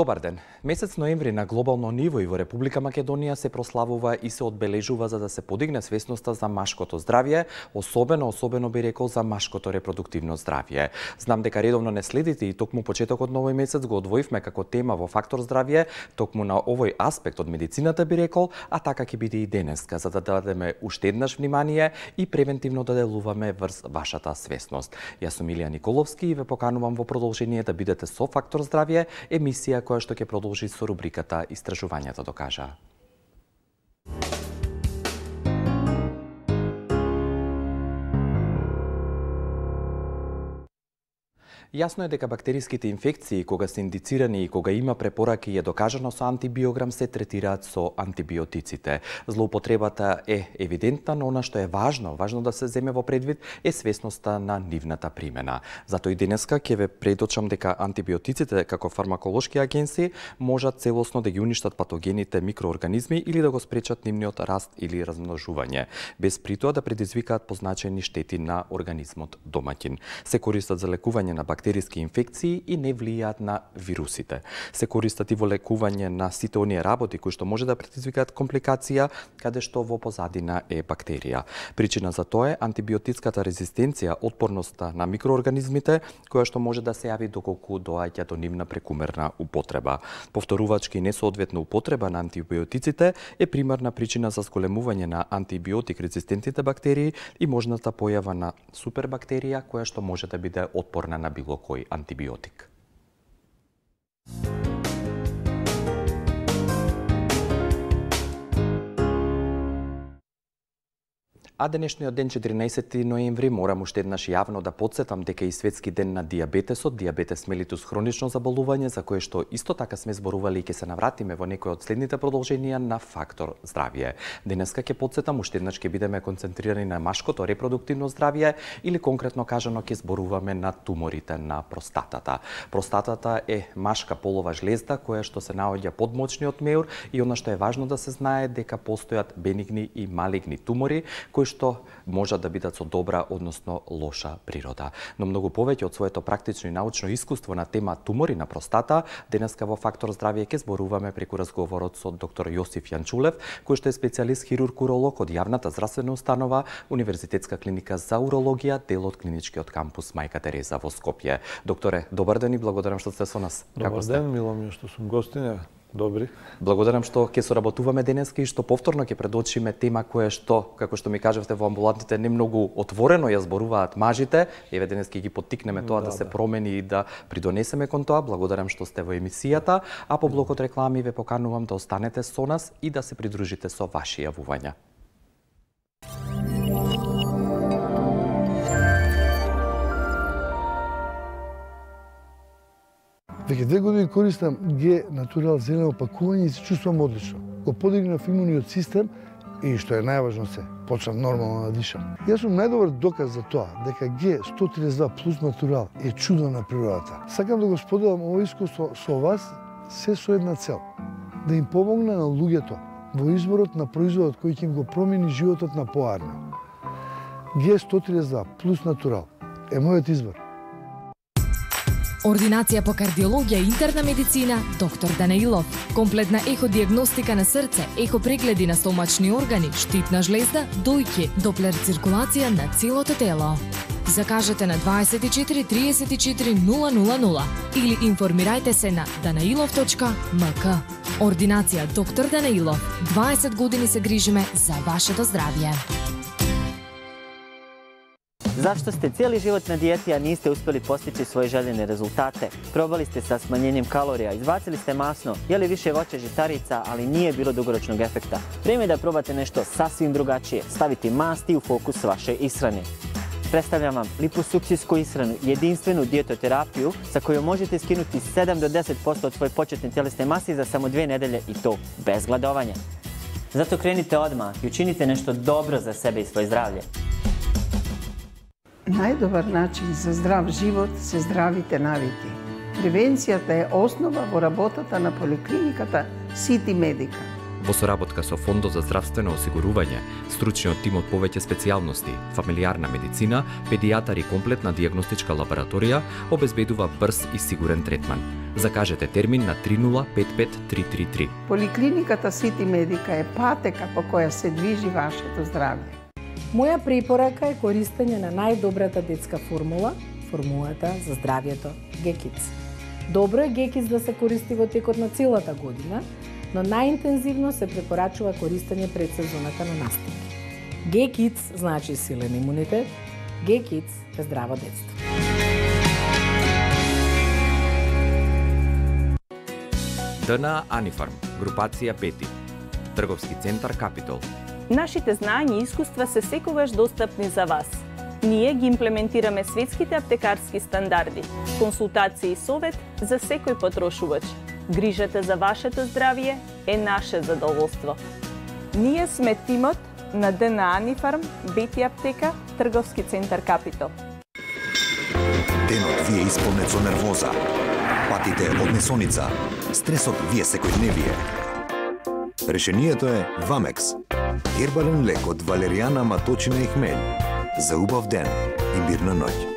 Добар ден. Месец ноември на глобално ниво и во Република Македонија се прославува и се одбележува за да се подигне свесноста за машкото здравје, особено би рекол за машкото репродуктивно здравје. Знам дека редовно не следите и токму почетокот на овој месец го одвоивме како тема во фактор здравје, токму на овој аспект од медицината би рекол, а така ќе биде и денеска, за да дадеме уште еднаш внимание и превентивно да делуваме врз вашата свесност. Јас сум Илија Николовски и ве поканувам во продолжение да бидете со Фактор здравје, емисија која што ќе продолжи со рубриката Истражувањето докажаа. Јасно е дека бактериските инфекции, кога се индицирани и кога има препораки и е докажано со антибиограм, се третираат со антибиотиците. Злоупотребата е евидентна, но она што е важно да се земе во предвид е свесноста на нивната примена. Затоа и денеска ќе ве предочам дека антибиотиците како фармаколошки агенси можат целосно да ги уништат патогените микроорганизми или да го спречат нивниот раст или размножување, без при тоа да предизвикаат позначени штети на организмот домаќин. Се користат за лекување на бактериски инфекции и не влијаат на вирусите. Се користат и во лекување на сите оние работи кои што може да предизвикаат компликација, каде што во позадина е бактерија. Причина за тоа е антибиотичката резистенција, отпорноста на микроорганизмите, која што може да се јави доколку доаѓа до нивна прекумерна употреба. Повторувачки и несоодветна употреба на антибиотиците е примарна причина за зголемување на антибиотик резистентните бактерии и можната појава на супербактерија која што може да биде отпорна на било кој антибиотик. А денешниот ден, 14 ноември, морам уште еднаш јавно да потсетам дека и светски ден на дијабетесот, дијабетес мелитус хронично заболување, за кое што исто така сме зборували и ќе се навратиме во некој од следните продолженија на Фактор здравје. Денеска ќе потсетам, уште еднаш ќе бидеме концентрирани на машкото репродуктивно здравје или конкретно кажано ќе зборуваме на туморите на простатата. Простатата е машка полова жлезда која што се наоѓа под мочниот меур и она што е важно да се знае дека постојат бенигни и малигни тумори кои што можат да бидат со добра, односно лоша природа. Но многу повеќе од своето практично и научно искуство на тема тумори на простата, денеска во Фактор здравје ќе зборуваме преку разговорот со доктор Јосиф Јанчулев, кој што е специјалист хирург-уролог од јавната здравствена установа Универзитетска клиника за урологија, дел од клиничкиот кампус Мајка Тереза во Скопје. Докторе, добар ден и благодарам што сте со нас. Добар ден, мило ми што сум гостиня. Добри. Благодарам што ќе соработуваме денеска и што повторно ќе предочиме тема која што, како што ми кажавте во амбулантите, не многу отворено ја зборуваат мажите. Еве денеска ги поттикнеме тоа да се промени и да придонесеме кон тоа. Благодарам што сте во емисијата, а по блокот реклами ве поканувам да останете со нас и да се придружите со ваши јавувања. Веќе 2 години користам Г Натурал зелено пакување и се чувствувам одлично. Го подигнав имуниот систем и што е најважно се, почнав нормално да дишам. Јас сум најдобар доказ за тоа дека Г 132 плюс Натурал е чудо на природата. Сакам да го споделам овој искуство со вас се со една цел, да им помогне на луѓето во изборот на производот кој ќе им го промени животот на поарно. Г 132 плюс Натурал е мојот избор. Ординација по кардиологија и интерна медицина, доктор Данаилов. Комплетна еходиагностика на срце, ехопрегледи на стомачни органи, штитна жлезда, дојки, доплер циркулација на целото тело. Закажете на 24 34 000 или информирајте се на danailov.mk. Ординација доктор Данаилов. 20 години се грижиме за вашето здравје. Zašto ste cijeli život na dijeti, a niste uspjeli postići svoje željene rezultate? Probali ste sa smanjenjem kalorija, izbacili ste masno, jeli više voća žitarica, ali nije bilo dugoročnog efekta. Vrijeme je da probate nešto sasvim drugačije, staviti masti u fokus vaše ishrane. Predstavljam vam liposuksijsku ishranu, jedinstvenu dijetoterapiju sa kojom možete skinuti 7 do 10% od svoje početne tjelesne mase za samo 2 nedelje i to bez gladovanja. Zato krenite odmah i učinite nešto dobro za sebe i svoje zdravlje. Најдобар начин за здрав живот се здравите навики. Превенцијата е основа во работата на поликлиниката Сити Медика. Во соработка со Фондот за здравствено осигурување, стручниот тим од повеќе специјалности, фамилијарна медицина, педијатар и комплетна дијагностичка лабораторија обезбедува брз и сигурен третман. Закажете термин на 3055 333. Поликлиниката Сити Медика е патека по која се движи вашето здравје. Моја препорака е користење на најдобрата детска формула, формулата за здравјето Г-Kids. Добро е Г-Kids да се користи во текот на целата година, но најинтензивно се препорачува користење пред сезоната на настапи. Г-Kids значи силен имунитет, Г-Kids е здраво детство. ДНА Анифарм, групација 5, трговски центар Капитол. Нашите знаења и искуства се секогаш достапни за вас. Ние ги имплементираме светските аптекарски стандарди, консултации и совет за секој потрошувач. Грижата за вашето здравје е наше задоволство. Ние сме тимот на ДНА Анифарм, Бети аптека, трговски центар Капитол. Денот ви е исполнет со нервоза. Патите од несоница. Стресот ви е секојдневие. Решението е Вамекс. Гербален лек од валеријана, маточина и хмелј. За убав ден и мирна ноќ.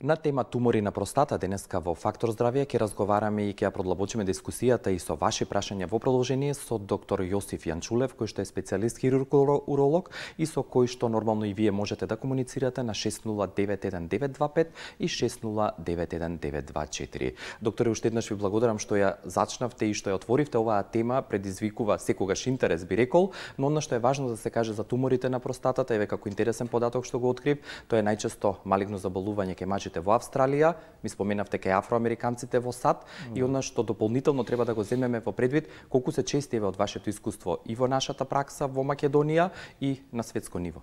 На тема тумори на простата денеска во Фактор здравје ќе разговараме и ќе ја продлабочиме дискусијата и со ваши прашања во продолжение со доктор Јосиф Јанчулев, кој што е специјалист хирург-уролог и со кој што нормално и вие можете да комуницирате на 60911925 и 60911924. Докторе, уште еднаш ви благодарам што ја зачнавте и што ја отворивте. Оваа тема предизвикува секогаш интерес, би рекол, но она што е важно да се каже за туморите на простатата, еве како интересен податок што го открив, тоа е најчесто малигно заболување кај мажите во Австралија, ми споменавте кај афроамериканците во САД, и она што дополнително треба да го земеме во предвид, колку се чести од вашето искуство и во нашата пракса во Македонија и на светско ниво.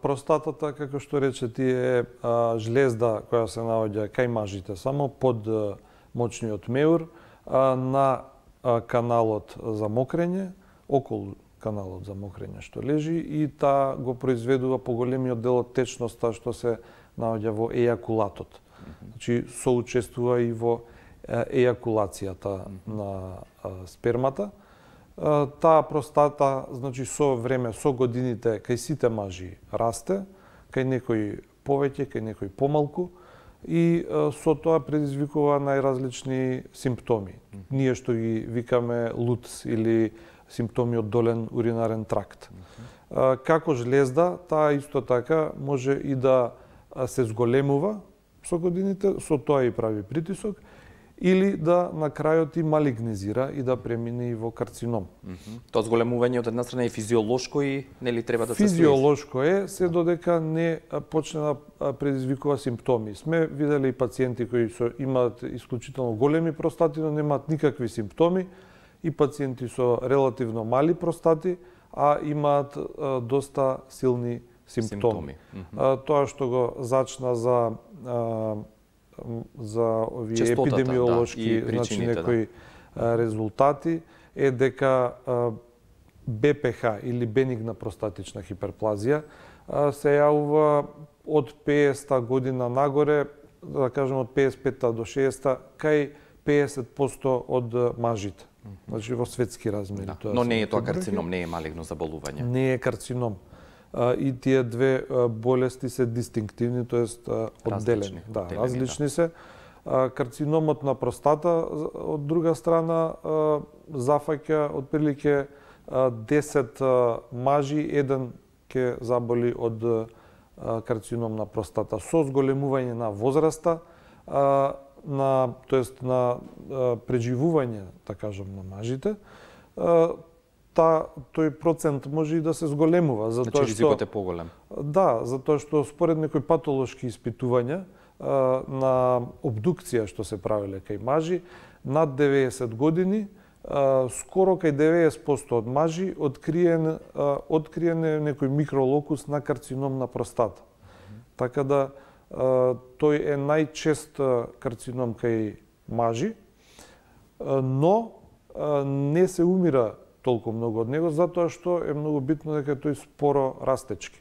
Простатата, како што рече ти, е жлезда која се наоѓа кај мажите, само под мочниот меур, на каналот за мокрење, околу каналот за мокрење што лежи, и таа го произведува поголемиот дел од течноста што се наоѓа во ејакулатот. Значи, соучествува и во ејакулацијата на спермата. Таа простата, значи, со време, со годините, кај сите мажи расте, кај некои повеќе, кај некои помалку, и со тоа предизвикува најразлични симптоми. Ние што ги викаме ЛУТС или симптоми од долен уринарен тракт. Како жлезда, таа исто така може и да се зголемува со годините, со тоа и прави притисок, или да на крајот и малигнизира и да премине и во карцином. Тоа зголемување од една страна е физиолошко и нели треба да се физиолошко е, се додека не почне да предизвикува симптоми. Сме видели и пациенти кои имаат исклучително големи простати, но немаат никакви симптоми, и пациенти со релативно мали простати, а имаат доста силни симптоми. Тоа што го зачна за овие епидемиолошки, значи некои резултати, е дека БПХ или бенигна простатична хиперплазија се јавува од 50-та година нагоре, да кажем од 55-та до 60-та, кај 50% од мажите. Значи во светски размери. Но не е тоа карцином, не е малигно заболување. Не е карцином. И тие две болести се дистинктивни, тоест одделени. Различни се. Карциномот на простата, од друга страна, зафаќа отприлике 10 мажи, еден ќе заболи од карцином на простата. Со зголемување на возраста, тоест на преживување, да кажам, на мажите, тој процент може и да се зголемува. Значи ризикот е поголем. Да, затоа што според некои патолошки испитувања на обдукција што се правеле кај мажи, над 90 години, скоро кај 90% од мажи откриен некој микролокус на карцином на простата. Така да тој е најчест карцином кај мажи, но не се умира толку многу од него, затоа што е многу битно дека тој споро растечки.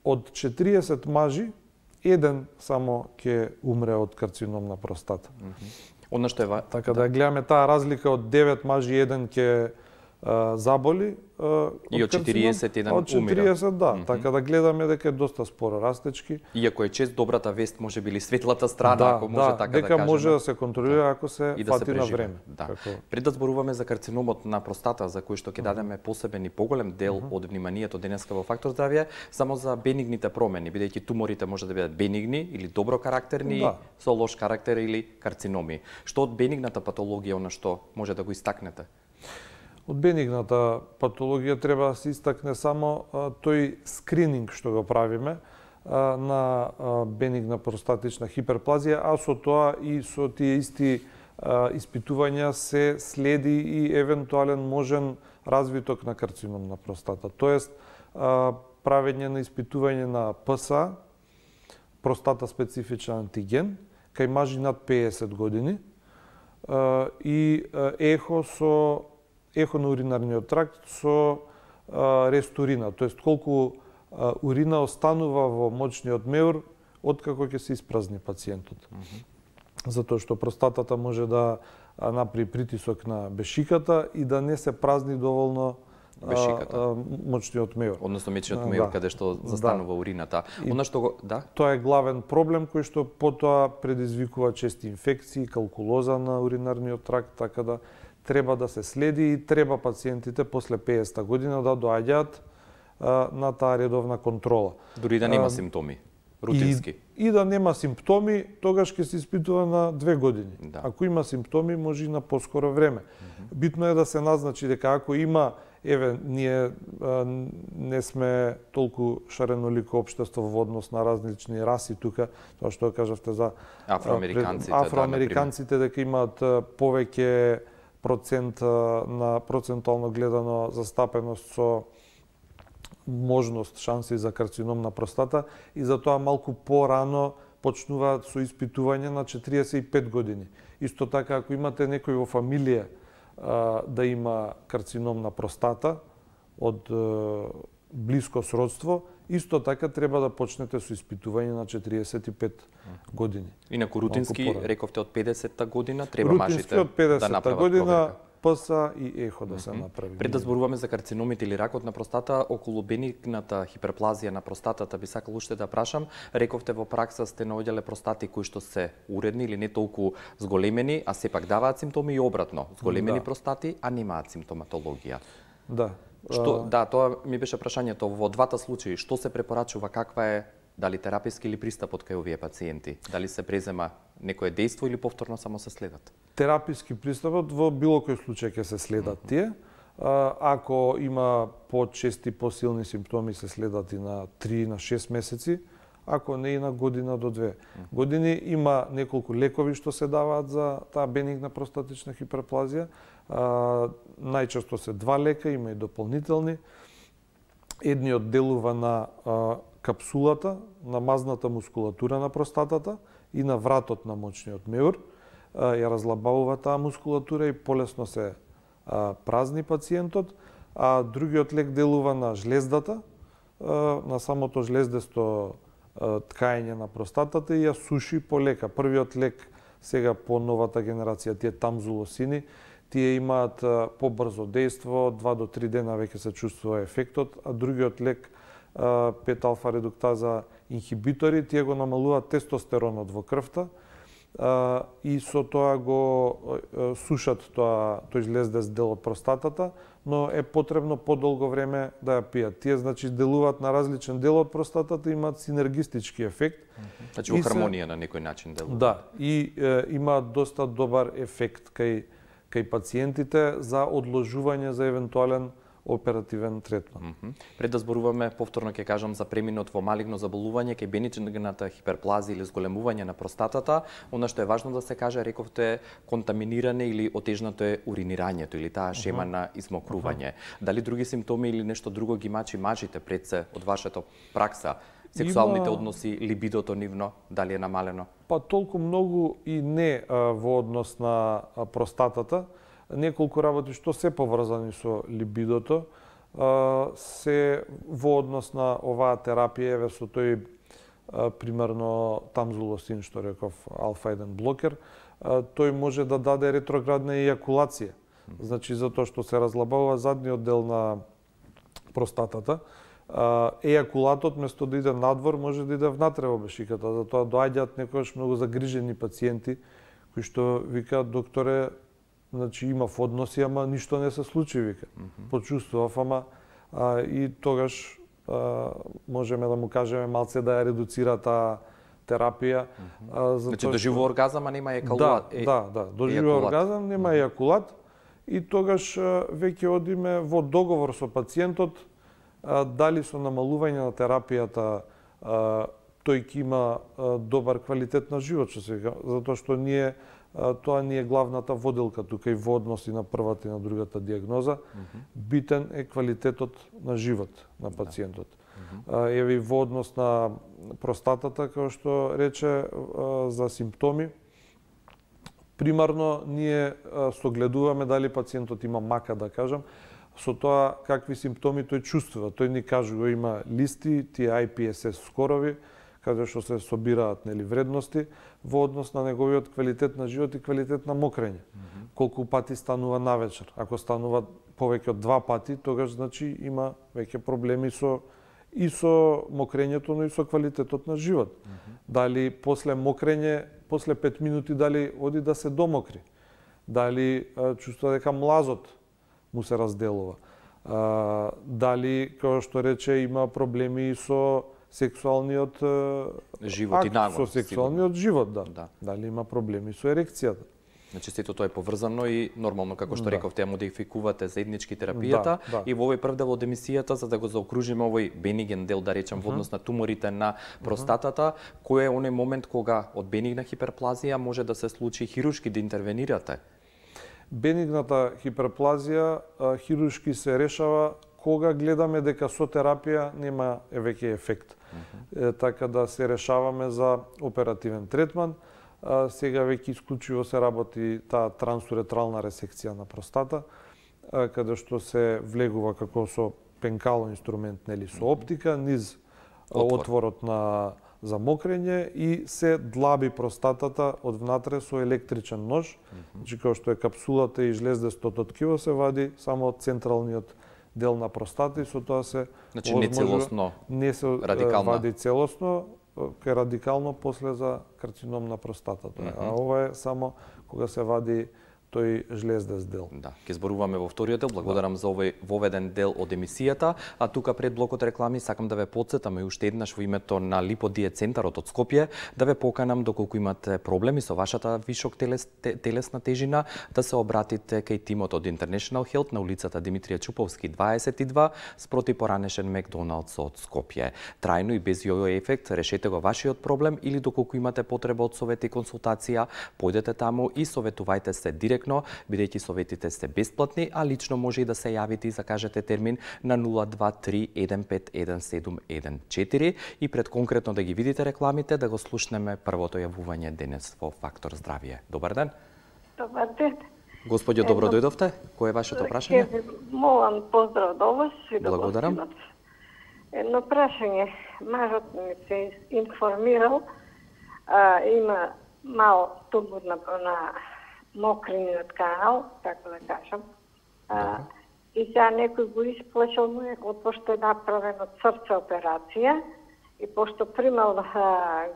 Од 40 мажи, еден само ќе умре од карцином на простата. Она што е така да гледаме таа разлика од 9 мажи, еден ќе заболи и од 40 еден од 40 да, така да гледаме дека е доста споро растечки. Иако е чест добрата вест, може би или светлата страна, ако може така да дека кажеме. може да се контролира ако се фати на време. Да. Пред да зборуваме за карциномот на простата, за кој што ќе дадеме посебен и поголем дел од вниманието денеска во Фактор здравје, само за бенигните промени, бидејќи туморите може да бидат бенигни или добро карактерни, со лош карактер или карциноми. Што од бенигната патологија, она што може да го истакнете? Од бенигната патологија треба да се истакне само тој скрининг што го правиме на бенигна простатична хиперплазија, а со тоа и со тие исти испитувања се следи и евентуален можен развиток на карцином на простата. Тоест, правење на испитување на ПСА, простата специфичен антиген, кај мажи над 50 години, и ехо на уринарниот тракт со рестурина, тоест колку урина останува во мочниот меур откако ќе се испразни пациентот. Затоа што простатата може да направи притисок на бешиката и да не се празни доволно мочниот меур. Односно мечниот меур каде што застанува урината. Она што тоа е главен проблем кој што потоа предизвикува чести инфекции, калкулоза на уринарниот тракт, така да треба да се следи и треба пациентите после 50-та година да доаѓаат на таа редовна контрола. Дури да нема симптоми, рутински. И да нема симптоми, тогаш ќе се испитува на 2 години. Ако има симптоми, може и на поскоро време. Битно е да се назначи дека ако има, ние не сме толку шаренолико општество во однос на различни раси тука, тоа што кажавте за афроамериканците, дека имаат повеќе процент на процентуално гледано застапеност со можност, шанси за карцином на простата и затоа малку порано почнуваат со испитување на 45 години. Исто така, ако имате некој во фамилија да има карцином на простата од блиско сродство, исто така треба да почнете со испитување на 45 години. Инаку рутински, рековте од 50-та година, треба мажите од 50-та година, ПСА и ехо да се направи. Пред да зборуваме за карциномите или ракот на простата, околу бенигната хиперплазија на простатата, би сакал уште да прашам, рековте во пракса сте наоѓале простати кои што се уредни или не толку зголемени, а сепак даваат симптоми и обратно, зголемени простати, а немаат симптоматологија. Тоа ми беше прашањето во двата случаи, што се препорачува, каква е дали тераписки или пристапот кај овие пациенти? Дали се презема некое дејство или повторно само се следат? Тераписки пристапот во било кој случај ќе се следат тие. Ако има почести, посилни симптоми, се следат и на 3 на 6 месеци, ако не и на година до 2 години. Има неколку лекови што се даваат за таа бенигна простатична хиперплазија. Најчесто се 2 лека, има и дополнителни. Едниот делува на капсулата, на мазната мускулатура на простатата и на вратот на мочниот меур. Ја разлабавува таа мускулатура и полесно се празни пациентот, а другиот лек делува на жлездата, на самото жлездесто ткаење на простатата и ја суши полека. Првиот лек сега по новата генерација, тие тамзулосини, тие имаат побрзо дејство, 2 до 3 дена веќе се чувствува ефектот, а другиот лек 5-алфа редуктаза инхибитори, тие го намалуваат тестостеронот во крвта и со тоа го сушат тој жлездест дел од простатата, но е потребно подолго време да ја пијат. Тие значи делуваат на различен дел од простатата, имаат синергистички ефект. Значи во хармонија на некој начин делуваат. Да, и имаат доста добар ефект кај пациентите за одложување за евентуален оперативен третман. Пред да зборуваме, повторно ќе кажам за преминот во малигно заболување, кај бенигната хиперплазија или зголемување на простатата, она што е важно да се каже, рековте контаминиране или отежнато е уринирањето или таа шема на измокрување. Дали други симптоми или нешто друго ги мачи мажите пред се од вашата пракса? сексуалните односи, либидото нивно, дали е намалено? Па толку многу и не во однос на простатата. Неколку работи што се поврзани со либидото, се во однос на оваа терапија, еве со тој примерно тамзулосин, што реков, алфа-1 блокер, тој може да даде ретроградна ејакулација. Значи, затоа што се разлабава задниот дел на простатата, ејакулатот, место да иде надвор, може да иде внатре во бешиката. Затоа доаѓаат некогаш многу загрижени пациенти, кои што викаат, докторе, значи имав односи, ама ништо не се случи, вика. Почувствував, ама и тогаш можеме да му кажеме малце да ја редуцира таа терапија. Значи доживува оргазам, а нема ејакулат. Да, доживува оргазам, нема ејакулат и тогаш веќе одиме во договор со пациентот дали со намалување на терапијата тој ќе има добар квалитет на живот, што се вика, затоа што ние тоа не е главната воделка тука и во односи на првата и на другата диагноза. Битен е квалитетот на живот на пациентот. Еве во однос на простатата, како што рече, за симптоми, примарно ние согледуваме дали пациентот има мака, да кажам, со тоа какви симптоми тој чувствува. Тој ни кажува, има листи, тие IPSS скорови, каде што се собираат вредности во однос на неговиот квалитет на живот и квалитет на мокрење. Колку пати станува навечер. Ако станува повеќе од 2 пати, тогаш значи има веќе проблеми и со мокрењето, но и со квалитетот на живот. Дали после мокрење, после 5 минути, дали оди да се домокри. Дали чувствува дека млазот му се разделува. Дали, како што рече, има проблеми и со сексуалниот живот и нагон. Со сексуалниот живот, да. Дали има проблеми со ерекцијата. Значи сето тоа е поврзано и нормално, како што рековте, модификувате заеднички терапијата и во овој прв дел од емисијата, за да го заокружиме овој бениген дел, да речем, во однос на туморите на простатата, кој е оној момент кога од бенигна хиперплазија може да се случи хируршки да интервенирате? Бенигната хиперплазија хируршки се решава кога гледаме дека со терапија нема веќе ефект. Така да се решаваме за оперативен третман. Сега веќе исклучиво се работи таа трансуретрална ресекција на простата, каде што се влегува како со пенкало инструмент, со оптика, низ отворот за мокрење и се длаби простатата од внатре со електричен нож. Значи, како што е капсулата и жлездестото ткиво, се вади само од централниот дел на простата и со тоа се не се вади целосно, е радикално после за карцином на простатата. А ова е само кога се вади тој жлездест дел. Да, ќе зборуваме во вториот дел. Благодарам за овој воведен дел од емисијата. А тука пред блокот реклами сакам да ве потсетам и уште еднаш во името на Липодиет центарот од Скопје да ве поканам доколку имате проблеми со вашата вишок телесна тежина да се обратите кај тимот од International Health на улицата Димитрија Чуповски 22 спроти поранешен Макдоналдс од Скопје. Трајно и без јојо ефект решете го вашиот проблем или доколку имате потреба од совет и консултација, појдете таму и советувајте се директно, бидејќи советите се бесплатни, а лично може и да се јавите и закажете термин на 023-151-714 и пред конкретно да ги видите рекламите, да го слушнеме првото јавување денес во Фактор здравје. Добар ден. Добар ден. Господјо, добро дојдовте. Кој е вашето прашање? Молам поздрав до вас и до Благодарам. гостинот. Едно прашање. Мажот ми се информирал, има мал тумор на мокрениот канал, така да кажам. И сега некој го исплашал му е, пошто е направено срце операција и пошто примал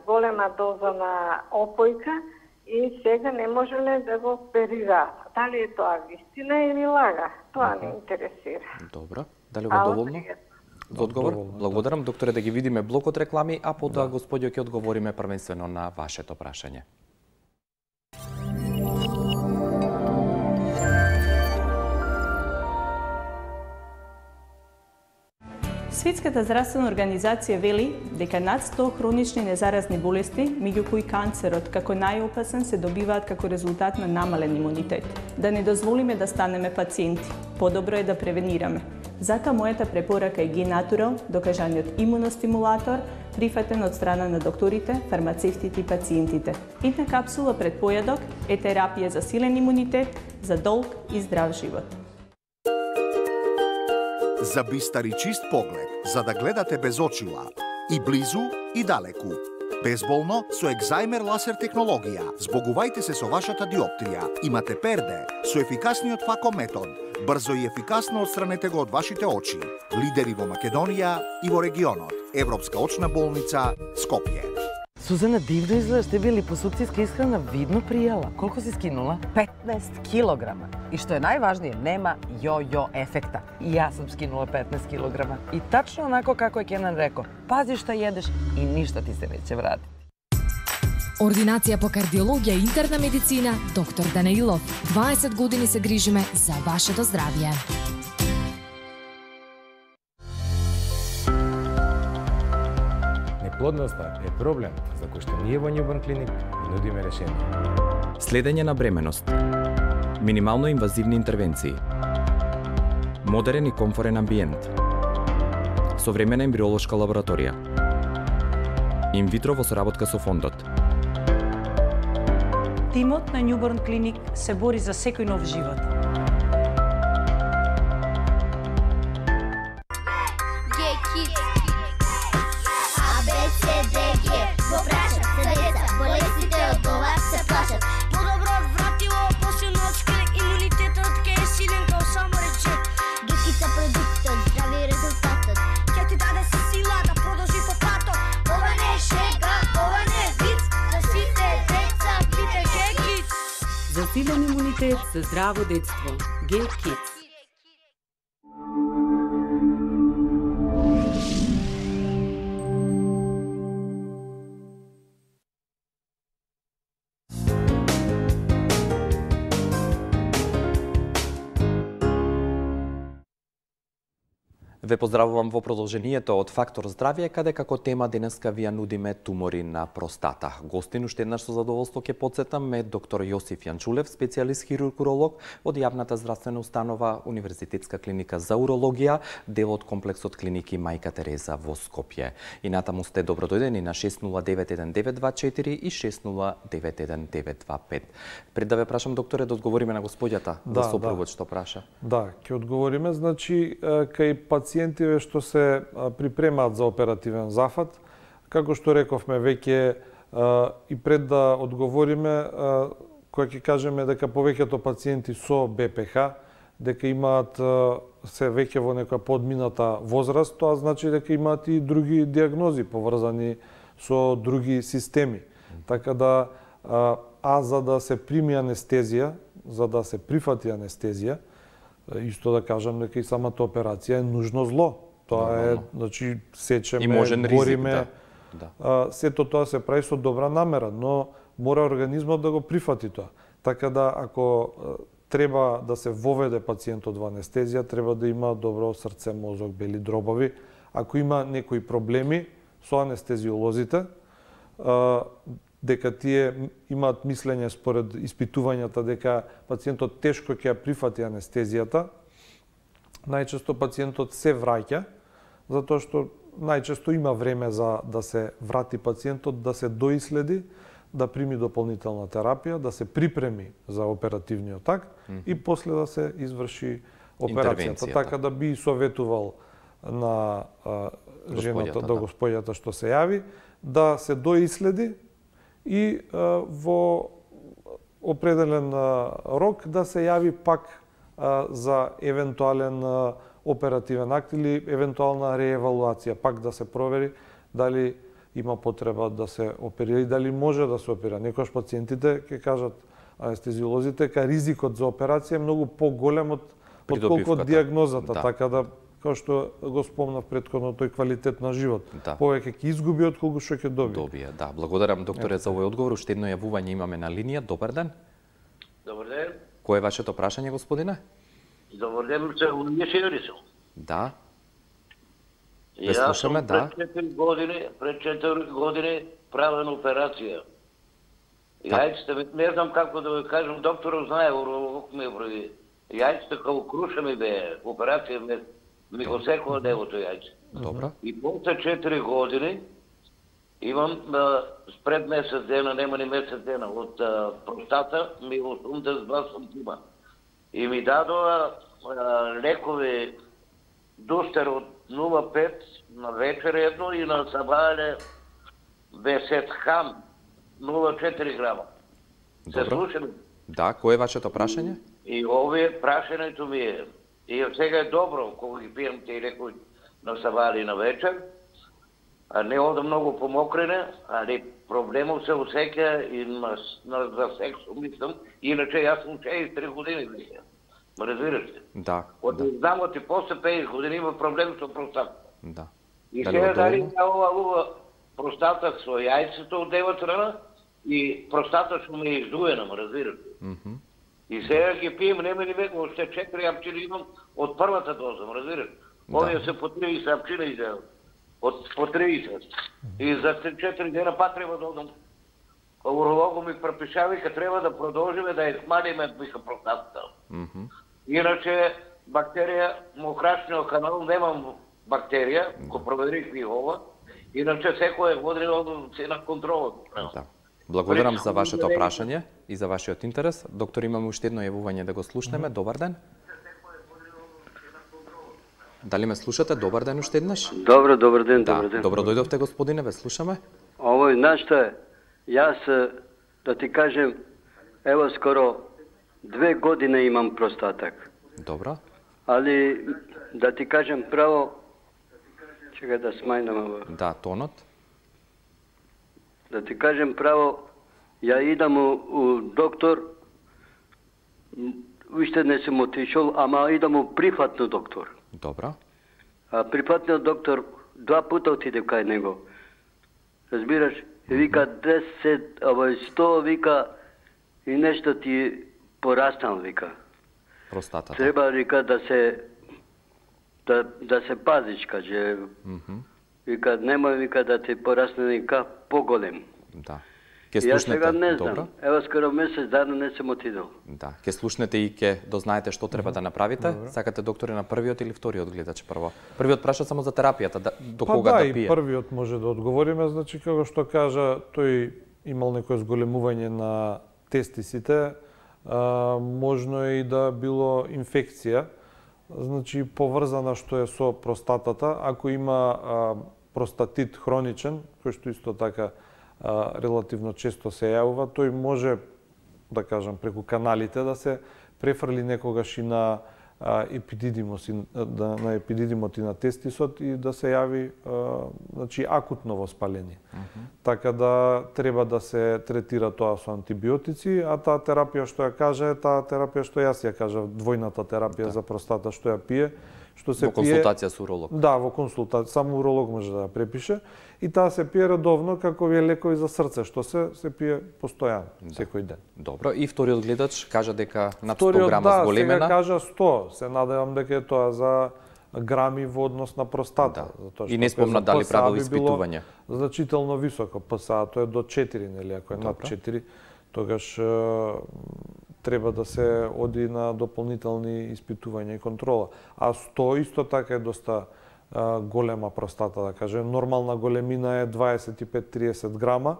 голема доза на опојка и сега не можеле да го оперираат. Дали е тоа вистина или лага? Тоа не интересира. Добро. Дали го доволно? За одговор? Благодарам, докторе, да ги видиме блокот реклами, а потоа господјо ќе одговориме првенствено на вашето прашање. Светската здравствена организација вели дека над 100 хронични незаразни болести, меѓу кои канцерот како најопасен, се добиваат како резултат на намален имунитет. Да не дозволиме да станеме пациенти. Подобро е да превенираме. Затоа мојата препорака е Г-Натурал, докажаниот имуностимулатор, прифатен од страна на докторите, фармацевтите и пациентите. Една капсула пред појадок е терапија за силен имунитет, за долг и здрав живот. За бистар и чист поглед, за да гледате без очила, и близу и далеку. Безболно со екзајмер лазер технологија. Збогувајте се со вашата диоптрија. Имате перде со ефикасниот фако метод. Брзо и ефикасно отстранете го од вашите очи. Лидери во Македонија и во регионот. Европска очна болница Скопје. Сузана, дивно изгледаш, тебе липосукцијска исхрана видно пријала. Колку си скинула? 15 килограма. И што е најважнije, нема јо-јо ефекта. И јас сум скинула 15 килограма. И тачно онако како е Кенан реко, пази што једеш и ништо ти се неќе врати. Ординација по кардиологија и интерна медицина, доктор Данаилов. 20 години се грижиме за вашето здравје. Неплодноста е проблем за кој што ние во Newborn Clinic нудиме решение. Следење на бременност. Минимално инвазивни интервенции. Модерен и комфорен амбиент. Современа ембриолошка лабораторија. Инвитро во соработка со фондот. Тимот на Newborn Clinic се бори за секој нов живот. Силен имунитет за здраво детство. G-Kids. Ве поздравувам во продолжението од Фактор здравје, каде како тема денеска ви ја нудиме тумори на простата. Гостин уште еднаш со задоволство ќе потсетам е доктор Јосиф Јанчулев, специјалист хирург-уролог од јавната здравствена установа Универзитетска клиника за урологија, дел од комплексот клиники Мајка Тереза во Скопје. И натаму сте добродојдени на 6091-924 и 6091-925. Пред да ве прашам, докторе, да одговориме на господјата, да сопругот што праша. Да, ќе одговориме, значи, кај пациентиве што се припремаат за оперативен зафат. Како што рековме веќе и пред да одговориме, која ќе кажеме дека повеќето пациенти со БПХ, дека имаат се веќе во некоја подмината возраст, тоа значи дека имаат и други диагнози поврзани со други системи. Така да, за да се прими анестезија, за да се прифати анестезија, исто да кажам дека и самата операција е нужно зло. Тоа е, значи, сечеме, бориме. Сето тоа се прави со добра намера, но мора организмот да го прифати тоа. Така да, ако треба да се воведе пациентот во анестезија, треба да има добро срце, мозок, бели дробови. Ако има некои проблеми со анестезиолозите, дека тие имаат мислење според испитувањата дека пациентот тешко ќе ја прифати анестезијата, најчесто пациентот се враќа, затоа што најчесто има време за да се врати пациентот, да се доиследи, да прими дополнителна терапија, да се припреми за оперативниот акт и после да се изврши операцијата. Така да би советувал на жената, до господјата што се јави, да се доиследи и во определен рок да се јави пак за евентуален оперативен акт или евентуална реевалуација, пак да се провери дали има потреба да се оперира и дали може да се оперира. Некојаш пациентите ќе кажат анестезиолозите дека ризикот за операција е многу поголем од отколку од диагнозата, така да како што го спомнав претходно, тој квалитет на живот. Повеќе ќе изгуби отколку што ќе добие. Да, благодарам докторе за овој одговор. Уште едно јавување имаме на линија. Добар ден. Добар ден. Кој е вашето прашање, господине? Добар ден, се Уније Јорисел. Да. Ве слушаме, да. Пред 4 години правена операција. Јајците, не знам како да ви кажам, докторот знае, уролог ми прави. Јајците како круша ми бе, операција ми го секува девото јајце. Добро. И после 4 години Имам спред месец дена, нема ни месец дена, од простата ми 82 сантима. И ми дадоа лекови Дустер од 0,5 на вечер едно и на сабајле Весетхан 0,4 грама. Се слушам? Да, кој е вашето прашање? И овие прашањето ми е, и сега е добро кога ги пијам тие лекови на сабајле и на вечер, а не ода многу помокрене, али проблемов се осеќа и за сексо мислам, иначе јас сум 63 години веќе. Ма разбираш ли? Да. Од знамот и после 50 години има проблем со простатата. Да. И сега дали ова простата со јајцето од дева страна и простата што ми е издуена, ма разбираш ли? И сега ги пием, нема ни веќе, още 4 апчини имам од првата доза, ма разбираш? Овие се по 30 апчина изделат. Од по 30. И за 4 дена па треба да одам. Урологот ми препиша, вика, треба да продолжиме да ја смалиме, вика, простатата. Иначе, бактерија, мokraшниот канал, немам бактерија, го проверих и ова, иначе секој година се на контрола. Да. Благодарам за вашето прашање и за вашиот интерес. Доктор, имаме уште едно јавување да го слушнеме. Добар ден. Дали ме слушате? Добар ден уште еднаш. Добро ден, да, добар ден. Добро дојдовте, господине, ве слушаме. Овој, знаеш што е? Јас, да ти кажем, ево скоро 2 години имам простатак. Добро. Али, да ти кажем право, чекај да смајнам ова. Да, тонот. Да ти кажем право, ја идам у доктор, уште не сум отишол, ама идам у прифатно доктор. Добро. А прифатниот доктор 2 пута отиде кај него. Разбираш? Вика 10, 100, вика и нешто ти пораснал, вика. Простатата. Треба, вика, да се пазиш, каже. Вика, немој, вика, да ти порасне, вика, поголем. Да. Јас сега не знам. Ево, скоро месец дана не сум отидел. Да. Ке слушнете и ке дознаете што треба да направите. Сакате, докторе, на првиот или вториот гледач прво? Првиот праша само за терапијата, до кога да пие. Па да, и првиот може да одговориме, значи, како што кажа, тој имал некој зголемување на тестисите, можно е и да било инфекција, значи поврзана што е со простатата. Ако има простатит хроничен, кој што исто така релативно често се јавува, тој може, да кажам, преку каналите да се префрли некогаш и на епидидимот и на тестисот и да се јави значи акутно воспаление. Така да треба да се третира тоа со антибиотици, а таа терапија што ја кажа е таа терапија што јас ја кажав, двојната терапија за простата што ја пие, што се во консултација со уролог. Да, во консултација, само уролог може да ја препише и таа се пие редовно како вие лекови за срце, што се пие постојано, секој ден. Добро, и вториот гледач кажа дека над 100 грама зголемена. Сега кажа 100, се надевам дека е тоа за грами во однос на простата. И не спомна дали правил испитување. Значително високо, ПСА тоа е до 4, нели, ако е над 4, тогаш треба да се оди на дополнителни испитувања и контрола. А 100 исто така е доста голема простата, да кажем. Нормална големина е 25-30 грама.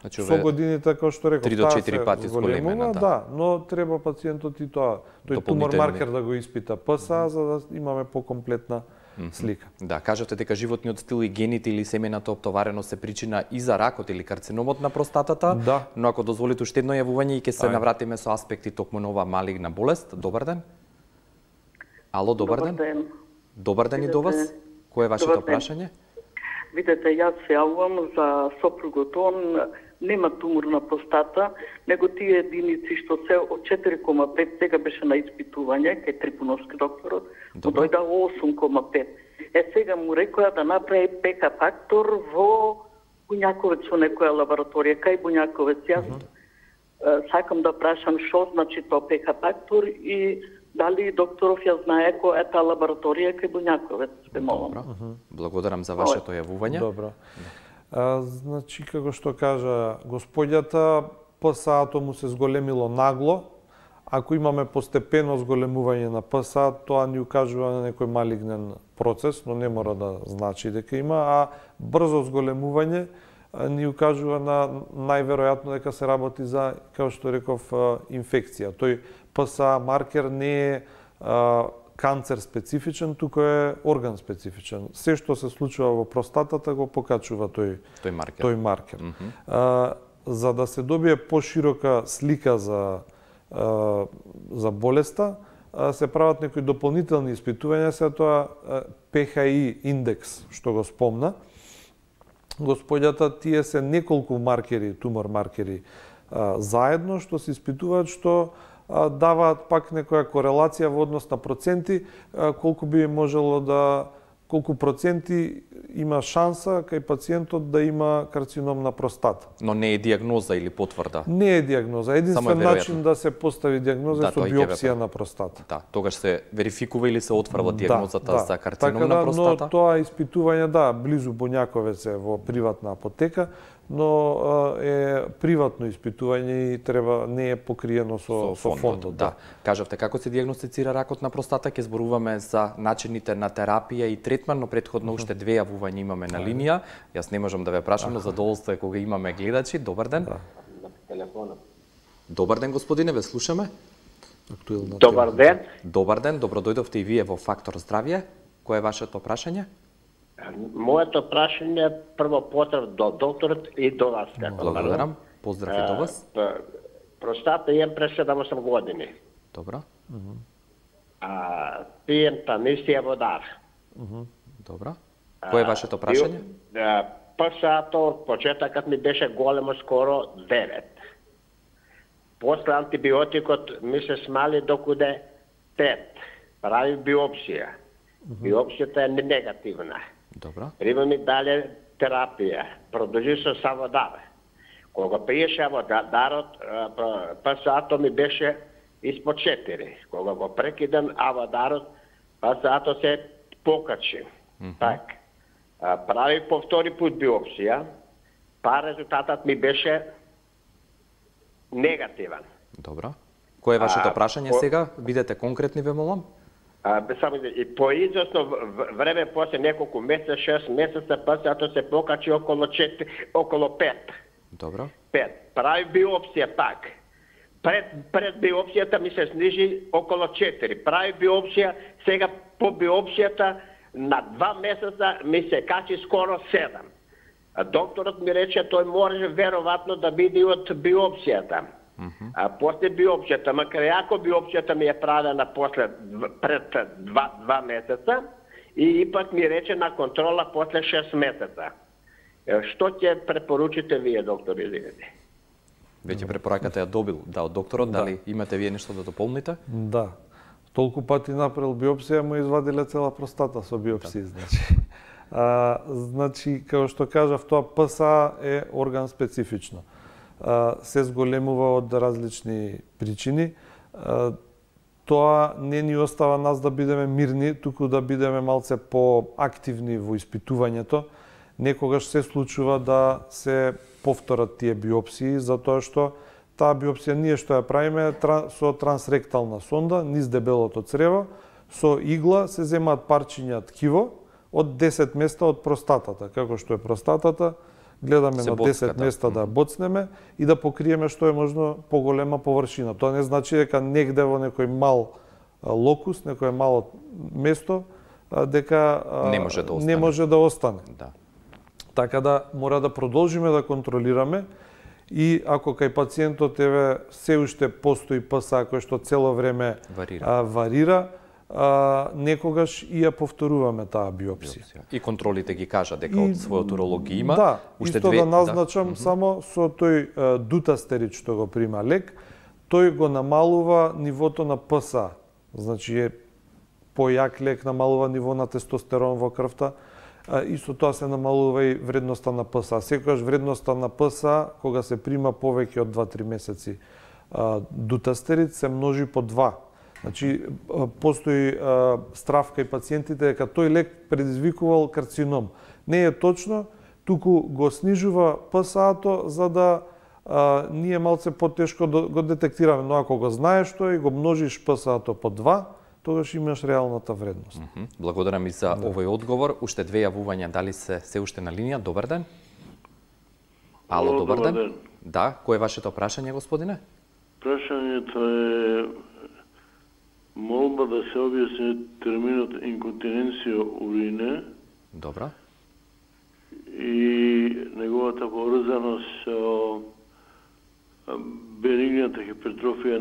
Значи, со годините, како што реков, 3 до 4 пати зголемена, да, но треба пациентот и тоа, тој тумор маркер да го испита ПСА, за да имаме покомплетна слика. Да, кажате дека животниот стил и гените или семената оптовареност се причина и за ракот или карциномот на простатата, да. Но ако дозволите уште едно јавување и ќе се навратиме со аспекти токму на оваа малигна болест. Добар ден. Ало, добар ден. Добар ден и до вас. Кој е вашето прашање? Видете, јас се јавувам за сопругот. Он нема тумор на простата, него тие единици што се од 4,5 сега беше на испитување кај Трипуновски докторот, му дојда 8,5. Сега му рекоа да направи ПК фактор во Буњаковец во некоја лабораторија, кај Буњаковец. Јас сакам да прашам што значи тоа ПК фактор и дали докторов ја знае која е таа лабораторија кај Буњаковец. Добро. Благодарам за вашето јавување. Добро. Значи, како што кажа господјата, ПСА-то му се зголемило нагло. Ако имаме постепено зголемување на ПСА, тоа ни укажува на некој малигнен процес, но не мора да значи дека има, а брзо зголемување ни укажува на најверојатно дека се работи за, како што реков, инфекција. Тој ПСА маркер не е канцер специфичен, туку е орган специфичен. Се што се случува во простатата го покачува тој маркер. За да се добие поширока слика за болеста, се прават некои дополнителни испитувања, се тоа ПХИ индекс, што го спомна. Господјата, тие се неколку маркери, тумор маркери заедно, што се испитуваат, што даваат пак некоја корелација во однос на проценти, колку проценти има шанса кај пациентот да има карцином на простата. Но не е диагноза или потврда? Не е диагноза. Единствен начин да се постави диагноза со биопсија на простата. Да, тогаш се верификува или се отврва диагнозата за карцином на простата? Но тоа испитување, близу Боњаковец е во приватна апотека, но е приватно испитување и не е покриено со фондот. Да. Кажавте како се диагностицира ракот на простата, ќе зборуваме за начините на терапија и третман, но претходно уште две јавувања имаме на линија. Јас не можам да ве прашам, но задоволство е кога имаме гледачи. Добар ден. Добар ден, господине, ве слушаме. Добар ден. Добар ден, добро дојдовте и вие во Фактор здравје. Кое е вашето прашање? Моето прашање е прво поздрав до докторот и до вас. Благодарам. Поздрав и до вас. Простата имам пред 7-8 години. Добро. Пием тамисија водар. Добро. Кое е вашето прашање? ПСА-то од почетокот ми беше големо, скоро 9. После антибиотикот ми се смали докуде 5. Прави биопсија. Биопсијата е негативна. Добро. Прима ми дале терапија. Продолжи со саводар. Кога пиеше аводарот, ПСА-то ми беше испод 4. Кога го прекидам аводарот, ПСА-то се покачи. Так. Прави по втори пут биопсија, резултатот ми беше негативен. Добро. Кое е вашето прашање сега? Бидете конкретни, ве молам. И по известно време, после неколку месеца, 6 месеца, ПСА-то се покачи около 5. Добро. 5. Прави биопсија пак. Пред биопсијата ми се снижи около 4. Прави биопсија, сега по биопсијата на 2 месеца ми се качи скоро 7. Докторот ми рече тој може веројатно да биде од биопсијата. После биопсијата, макар ако биопсијата ми е правена пред 2 месеца, и ипак ми рече на контрола после 6 месеца. Што ќе препоручите вие, доктор, извинете? Веќе препораката ја добил, од докторот, дали имате вие нешто да дополните? Да. Толку пати направил биопсија, му извадиле цела простата со биопсија, значи, како што кажав, тоа ПСА е орган специфично. Се зголемува од различни причини. Тоа не ни остава нас да бидеме мирни, туку да бидеме малце поактивни во испитувањето. Некогаш се случува да се повторат тие биопсии, затоа што таа биопсија ние што ја правиме со трансректална сонда, низ дебелото црево, со игла се земаат парчиња ткиво од 10 места од простатата. Како што е простатата, гледаме на 10 места да боцнеме и да покриеме што е можно поголема површина. Тоа не значи дека негде во некој мал локус, некој мало место, дека не може да остане. Да. Така да мора да продолжиме да контролираме и ако кај пациентот се уште постои ПСА кој што цело време варира, некогаш и ја повторуваме таа биопсија. И контролите ги кажа дека од својот уролог ги има. Да, исто да назначам само со тој дутастерид што го прима лек, тој го намалува нивото на ПСА. Значи е појак лек, намалува ниво на тестостерон во крвта. Исто тоа се намалува и вредноста на ПСА. Секогаш вредноста на ПСА, кога се прима повеќе од 2-3 месеци дутастерид, се множи по 2. Значи, постои страв кај пациентите дека тој лек предизвикувал карцином. Не е точно, туку го снижува ПСА-то за да ние малце потешко го детектираме. Но ако го знаеш тој и го множиш ПСА-то по 2, тогаш имаш реалната вредност. Благодарам и за овој одговор. Уште две јавувања, дали се уште на линија? Добар ден. Ало, добар ден. Да, кој е вашето прашање, господине? Прашањето е молба да се објасни терминот инконтиненција урине. Добра. И неговата поврзаност со бенигната хипертрофија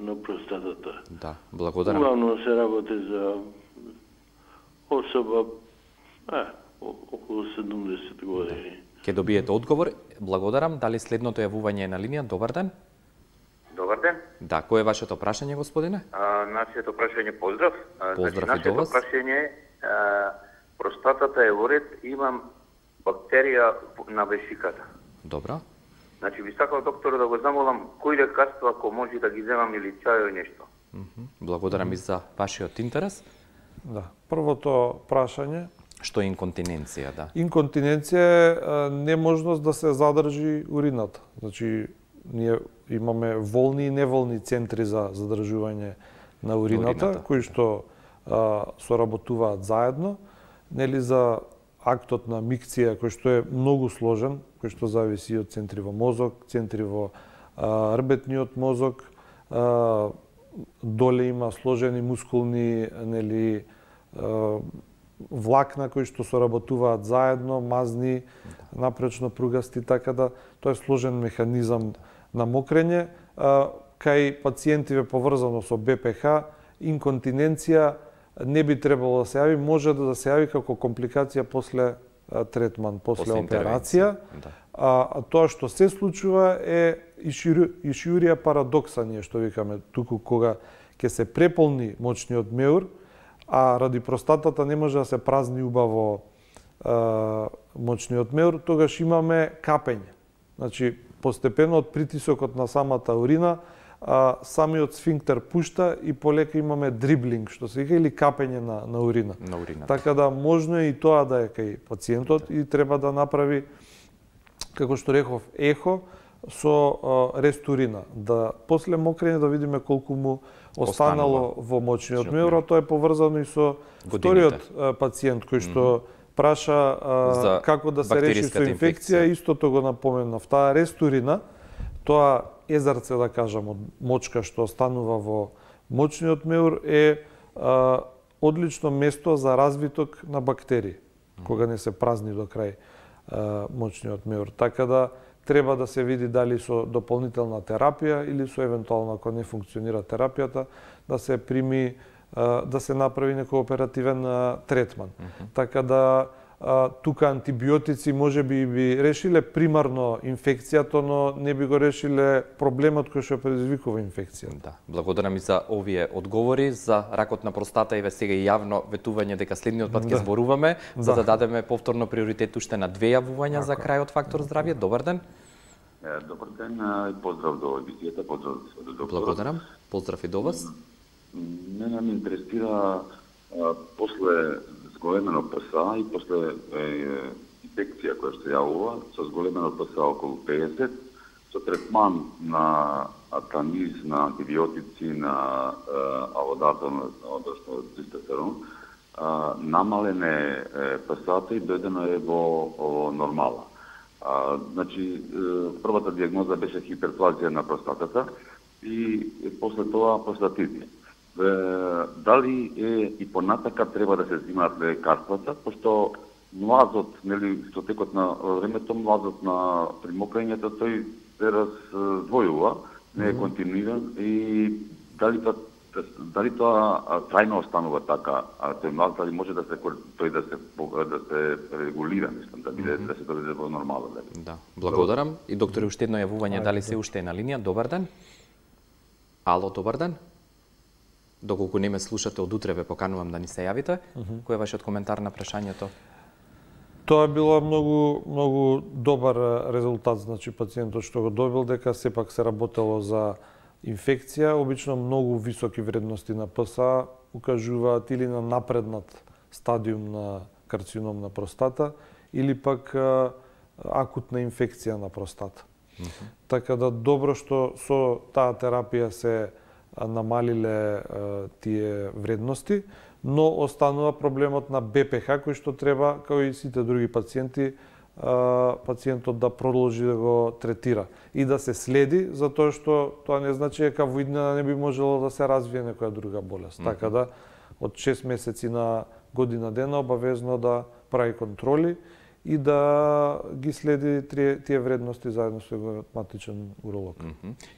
на простатата. Да, благодарам. Главно се работи за особа околу 70 години. Ке добиете одговор. Благодарам. Дали следното јавување е на линија? Добар ден. Добар ден. Да, кој е вашето прашање, господине? Нашето прашање поздрав. Поздрав и до вас. Нашето прашање простатата е во ред, имам бактерија на вешиката. Добро. Значи би сакал доктор да го замолам кои лекарства ако може да ги земам или чај или нешто. Благодарам и за вашиот интерес. Да. Првото прашање. Што е инконтиненција, да? Инконтиненција е неможност да се задржи урината. Значи, ние имаме волни и неволни центри за задржување на урината. Кои што соработуваат заедно, нели за актот на микција, кој што е многу сложен, кој што зависи од центри во мозок, центри во рбетниот мозок, доле има сложени мускулни, нели, влакна кои што соработуваат заедно, мазни, напречно пругасти, така да тоа е сложен механизам на мокрење. Кај пациентиве поврзано со БПХ, инконтиненција не би требало да се јави, може да се јави како компликација после третман, после операција. А тоа што се случува е ишиурија парадокса, ние што викаме, туку кога ќе се преполни мочниот меур, а ради простатата не може да се празни убаво мочниот меур, тогаш имаме капење. Значи, постепено од притисокот на самата урина, самиот сфинктер пушта и полека имаме дриблинг, што се вика, или капење на урина. Така да можно е и тоа да е кај пациентот и треба да направи, како што реков, ехо со рест урина. Да после мокрење да видиме колку му останало во мочниот меур, а тоа е поврзано и со вториот пациент кој што праша како да се реши со инфекција, истото го напоменав. Таа рест урина, тоа езерце, да кажам, од мочка што останува во мочниот меур е одлично место за развиток на бактерии, кога не се празни до крај мочниот меур. Така да треба да се види дали со дополнителна терапија или со евентуално, ако не функционира терапијата, да се прими, да се направи некој оперативен третман. Така да тука антибиотици може би решиле примарно инфекцијата, но не би го решиле проблемот кој што предизвикува инфекција. Да, благодарам и за овие одговори за ракот на простата и сега и јавно ветување дека следниот пат ќе зборуваме, за да дадеме повторно приоритет уште на 2 јавувања за крајот Фактор здравје. Добар ден. Добар ден и поздрав до емисијата, поздрав до доктора. Благодарам. Поздрав и до вас. Мене ме интересира после зголемено ПСА и после инфекција која што јавува, со зголемено ПСА околу 50, со третман на атаниз, на антибиотици, на алодатон, односно цистестерон, намалене ПСА-та и дојдено е во нормала. Значи, првата диагноза беше хиперплазија на простатата и после тоа простатит. Дали и понатака треба да се взимаат лекарствата, пошто млазот, нели, со текот на времето, млазот на примокрењето, тој се раздвојува, не е континуиран и дали тоа трајно останува така, тој млаз, дали може да се регулира, мислам, да се доведе во нормала. Да, благодарам. И доктор, уште едно јавување, дали се уште е на линија? Добар ден. Ало, добар ден. Доколку не ме слушате од утре, ве поканувам да ни се јавите. Кој е вашиот коментар на прашањето? Тоа е било многу добар резултат, значи пациентот што го добил, дека сепак се работело за инфекција, обично многу високи вредности на ПСА укажуваат или на напреднат стадиум на карцином на простата, или пак акутна инфекција на простата. Така да добро што со таа терапија се намалиле тие вредности, но останува проблемот на БПХ, кој што треба, како и сите други пациенти, пациентот да продолжи да го третира и да се следи, затоа што тоа не значи дека во иднина не би можело да се развие некоја друга болест. Така да од 6 месеци на година дена обавезно да прави контроли и да ги следи тие вредности заедно со ревматичен уролог.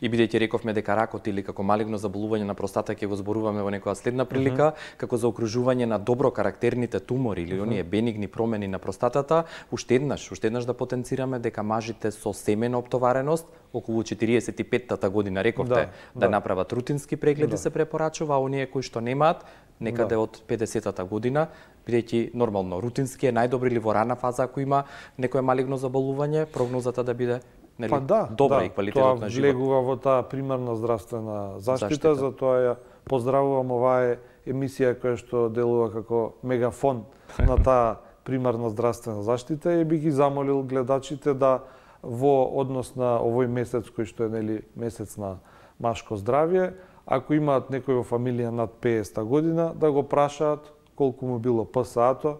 И бидејќи рековме дека ракот или како малигно заболување на простата ќе го зборуваме во некоја следна прилика, како заокружување на добро карактерните тумори или оние бенигни промени на простатата, уште еднаш да потенцираме дека мажите со семена оптовареност околу 45-тата година рековте да направат рутински прегледи се препорачува, а оние кои што немаат некаде од 50-та година, бидејќи нормално рутински е најдобри или во рана фаза ако има некое малигно заболување, прогнозата да биде добра и квалитетот на живот. Тоа влегува во таа примарна здравствена заштита, затоа ја поздравувам оваа емисија која што делува како мегафон на таа примарна здравствена заштита и би ги замолил гледачите да во однос на овој месец кој што е месец на машко здравје, ако имаат некој во фамилија над 50 година, да го прашаат колку му било ПСА-то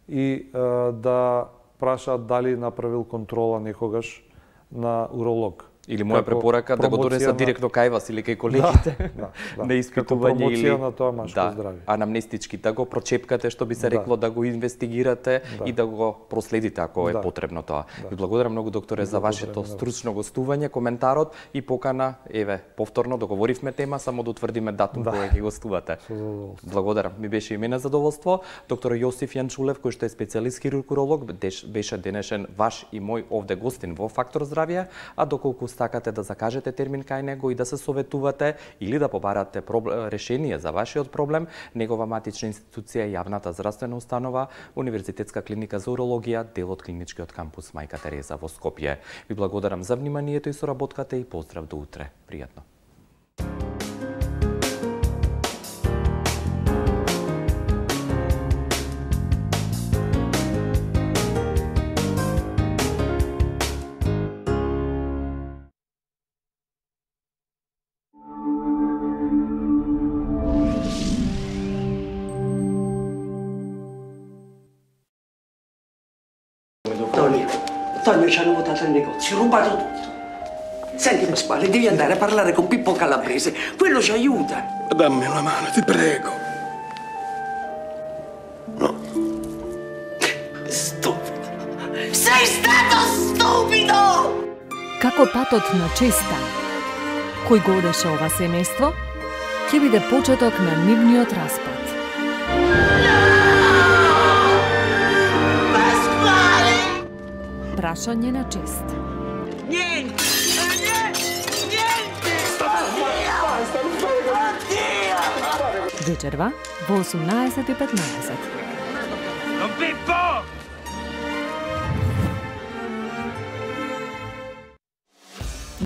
и да прашаат дали направил контрола некогаш на уролог. Или моја препорака да го донесат директно кај вас или кај колегите на испитување или на тоа машко здравје. Анамнестички да го прочепкате, што би се рекло, да го инвестигирате и да го проследите ако е потребно тоа. Ви благодарам многу докторе за вашето стручно гостување, коментарот и покана, повторно договоривме тема, само да утврдиме датум кога ќе гостувате. Благодарам, ми беше и мене задоволство. Доктор Јосиф Јанчулев, кој што е специјалист хирург-уролог, беше денешен ваш и мој овде гостин во Фактор здравје, а доколку сакате да закажете термин кај него и да се советувате или да побарате решение за вашиот проблем, негова матична институција е јавната здравствена установа Универзитетска клиника за урологија, дел од клиничкиот кампус Мајка Тереза во Скопје. Ви благодарам за вниманието и соработката и поздрав до утре. Пријатно. Tonio ci hanno votato il negozio, rubato tutto. Senti Pasquale, devi andare a parlare con Pippo Calabrese, quello ci aiuta. Dammi una mano, ti prego. No. Stupido. Sei stato stupido! Како патот на честа, кој го одеше ова семејство, ќе биде почеток на нивниот распад. Прашање на чест. Niente! Вечерва во 18:15. Pippo!